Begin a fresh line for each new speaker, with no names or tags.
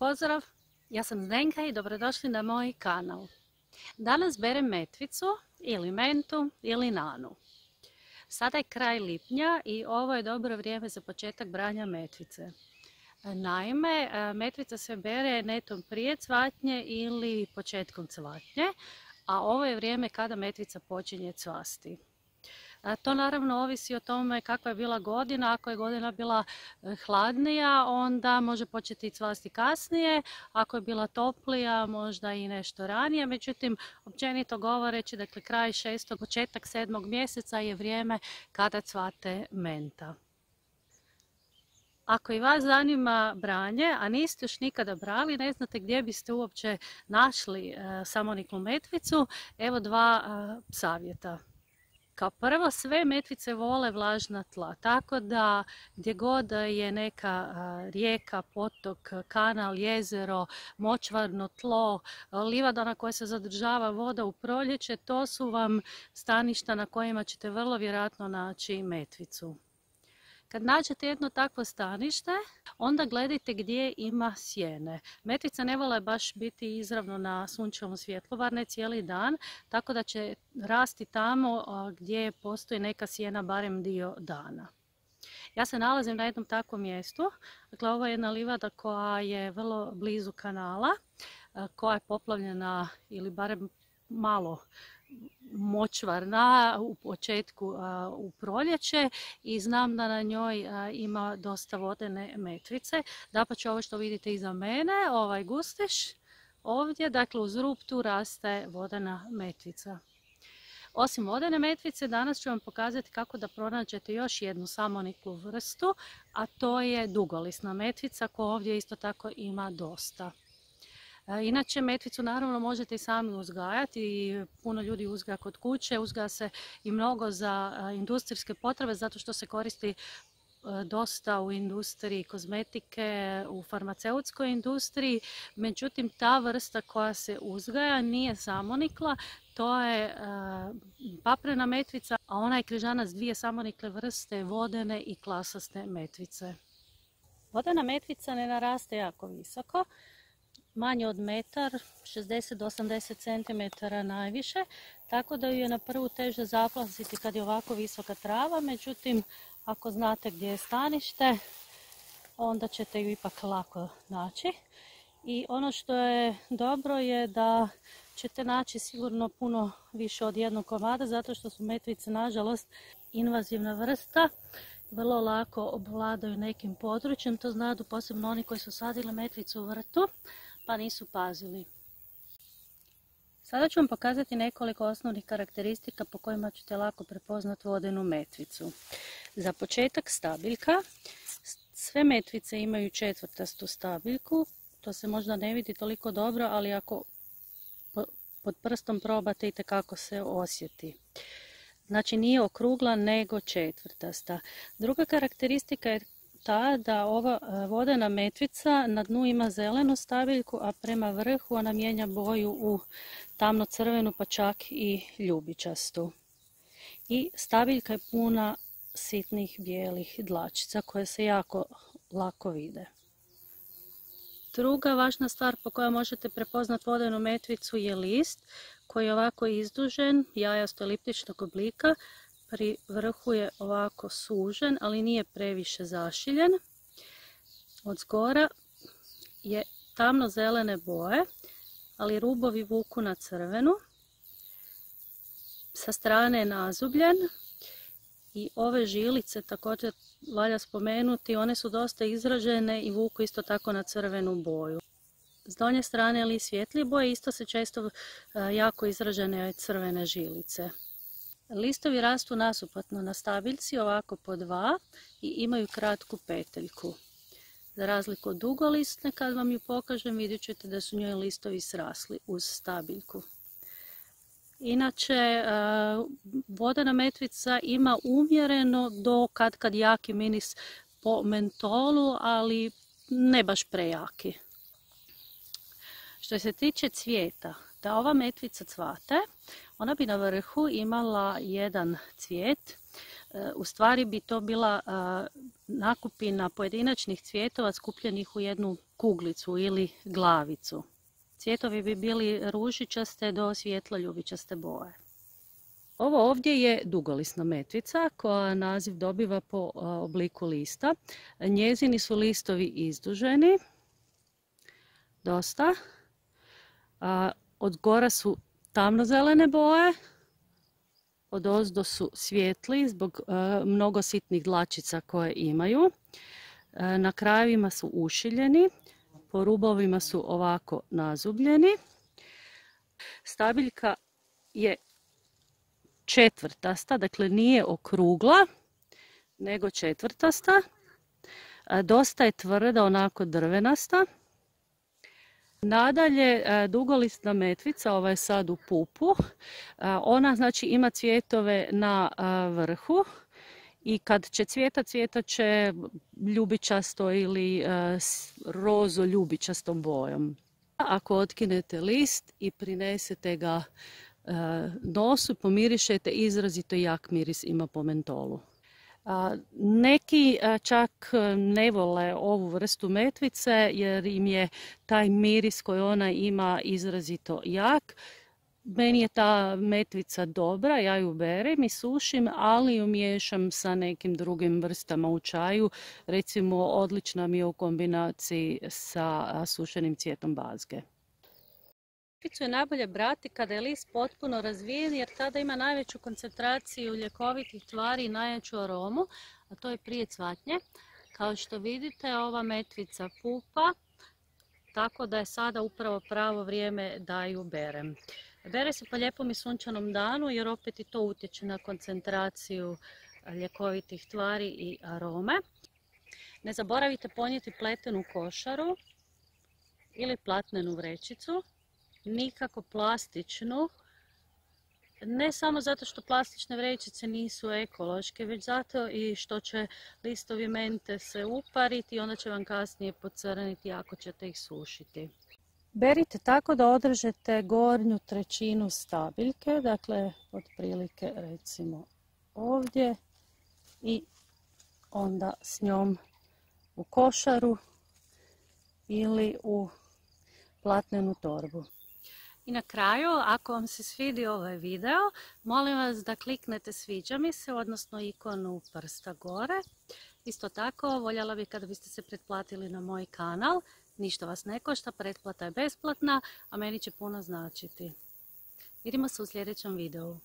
Pozdrav, ja sam Zdenka i dobrodošli na moj kanal. Danas berem metvicu ili mentu ili nanu. Sada je kraj lipnja i ovo je dobro vrijeme za početak branja metvice. Naime, metvica se bere netom prije cvatnje ili početkom cvatnje, a ovo je vrijeme kada metvica počinje cvasti. To naravno ovisi o tome kakva je bila godina. Ako je godina bila hladnija, onda može početi cvasti kasnije. Ako je bila toplija, možda i nešto ranije. Međutim, općenito govoreći, dakle kraj 6. početak 7. mjeseca je vrijeme kada cvate menta. Ako i vas zanima branje, a niste još nikada brali, ne znate gdje biste uopće našli samoniklu metvicu, evo dva savjeta. Kao prvo, sve metvice vole vlažna tla, tako da gdje god je neka rijeka, potok, kanal, jezero, močvarno tlo, livada na kojoj se zadržava voda u proljeće, to su vam staništa na kojima ćete vrlo vjerojatno naći metvicu. Kad nađete jedno takvo stanište, onda gledajte gdje ima sjene. Metvica ne vole baš biti izravno na sunčevom svjetlu, bar ne cijeli dan, tako da će rasti tamo gdje postoji neka sjena barem dio dana. Ja se nalazim na jednom takvom mjestu. Dakle, ovo je jedna livada koja je vrlo blizu kanala, koja je poplavljena ili barem malo močvarna u početku u proljeće i znam da na njoj ima dosta vodene metvice. Dapače, ovo što vidite iza mene, ovaj gustiš ovdje, dakle uz rub tu raste vodena metvica. Osim vodene metvice, danas ću vam pokazati kako da pronađete još jednu samoniklu vrstu, a to je dugolisna metvica koja ovdje isto tako ima dosta. Inače, metvicu naravno možete i sami uzgajati i puno ljudi uzgaja kod kuće, uzgaja se i mnogo za industrijske potrebe zato što se koristi dosta u industriji kozmetike, u farmaceutskoj industriji. Međutim, ta vrsta koja se uzgaja nije samonikla, to je paprena metvica, a ona je križana s dvije samonikle vrste, vodene i klasaste metvice. Vodena metvica ne naraste jako visoko, manje od metar, 60 do 80 cm najviše, tako da ju je na prvu teže zaplasiti kad je ovako visoka trava. Međutim, ako znate gdje je stanište, onda ćete ju ipak lako naći. I ono što je dobro je da ćete naći sigurno puno više od jednog komada, zato što su metvice nažalost invazivna vrsta. Vrlo lako obvladaju nekim područjem, to znaju posebno oni koji su sadili metvicu u vrtu pa nisu pazili. Sada ću vam pokazati nekoliko osnovnih karakteristika po kojima ćete lako prepoznati vodenu metvicu. Za početak stabiljka. Sve metvice imaju četvrtastu stabiljku, to se možda ne vidi toliko dobro, ali ako pod prstom probate itekako se osjeti. Znači nije okrugla nego četvrtasta. Druga karakteristika je ta da ova vodena metvica na dnu ima zelenu stabiljku, a prema vrhu ona mijenja boju u tamno crvenu pa čak i ljubičastu. I stabiljka je puna sitnih bijelih dlačica koje se jako lako vide. Druga važna stvar po kojoj možete prepoznati vodenu metvicu je list koji je ovako izdužen, jajasto eliptičnog oblika. Pri vrhu je ovako sužen, ali nije previše zašiljen. Od zgora je tamno zelene boje, ali rubovi vuku na crvenu. Sa strane je nazubljen i ove žilice također valja spomenuti, one su dosta izražene i vuku isto tako na crvenu boju. S donje strane ili svjetlije boje isto se često jako izražene crvene žilice. Listovi rastu nasuprotno na stabiljci, ovako po dva, i imaju kratku peteljku. Za razliku od dugolistne, kad vam ju pokažem, vidjet ćete da su njoj listovi srasli uz stabiljku. Inače, vodena metvica ima umjereno do kad jaki miris po mentolu, ali ne baš prejaki. Što se tiče cvijeta, da ova metvica cvate, ona bi na vrhu imala jedan cvijet U stvari bi to bila nakupina pojedinačnih cvjetova skupljenih u jednu kuglicu ili glavicu. Cvjetovi bi bili ružičaste do svjetlo-ljubičaste boje. Ovo ovdje je dugolisna metvica koja naziv dobiva po obliku lista. Njezini su listovi izduženi, dosta. Od gora su tamnozelene boje, od ozdo su svijetli zbog mnogo sitnih dlačica koje imaju. Na krajevima su ušiljeni, po rubovima su ovako nazubljeni. Stabiljka je četvrtasta, dakle nije okrugla, nego četvrtasta. Dosta je tvrda, onako drvenasta. Nadalje, dugolistna metvica, ova je sad u pupu, ona znači ima cvjetove na vrhu i kad će cvjetat će ljubičasto ili rozo ljubičastom bojom. Ako otkinete list i prinesete ga nosu, pomirišete, izrazito jak miris ima po mentolu. Neki čak ne vole ovu vrstu metvice jer im je taj miris koji ona ima izrazito jak. Meni je ta metvica dobra, ja ju berem i sušim, ali ju miješam sa nekim drugim vrstama u čaju. Recimo, odlična mi je u kombinaciji sa sušenim cvijetom bazge. Metvicu je najbolje brati kada je list potpuno razvijen jer tada ima najveću koncentraciju ljekovitih tvari i najjaču aromu, a to je prije cvatnje. Kao što vidite, ova metvica pupa, tako da je sada upravo pravo vrijeme da ju berem. Bere se po lijepom i sunčanom danu jer opet i to utječe na koncentraciju ljekovitih tvari i arome. Ne zaboravite ponijeti pletenu košaru ili platnenu vrećicu. Nikako plastičnu, ne samo zato što plastične vrećice nisu ekološke, već zato i što će listovi mente se upariti i onda će vam kasnije pocrniti ako ćete ih sušiti. Berite tako da održete gornju trećinu stabiljke, dakle otprilike recimo ovdje i onda s njom u košaru ili u platnenu torbu. I na kraju, ako vam se svidio ovaj video, molim vas da kliknete sviđa mi se, odnosno ikonu prsta gore. Isto tako, voljela bih kada biste se pretplatili na moj kanal. Ništa vas ne košta, pretplata je besplatna, a meni će puno značiti. Vidimo se u sljedećem videu.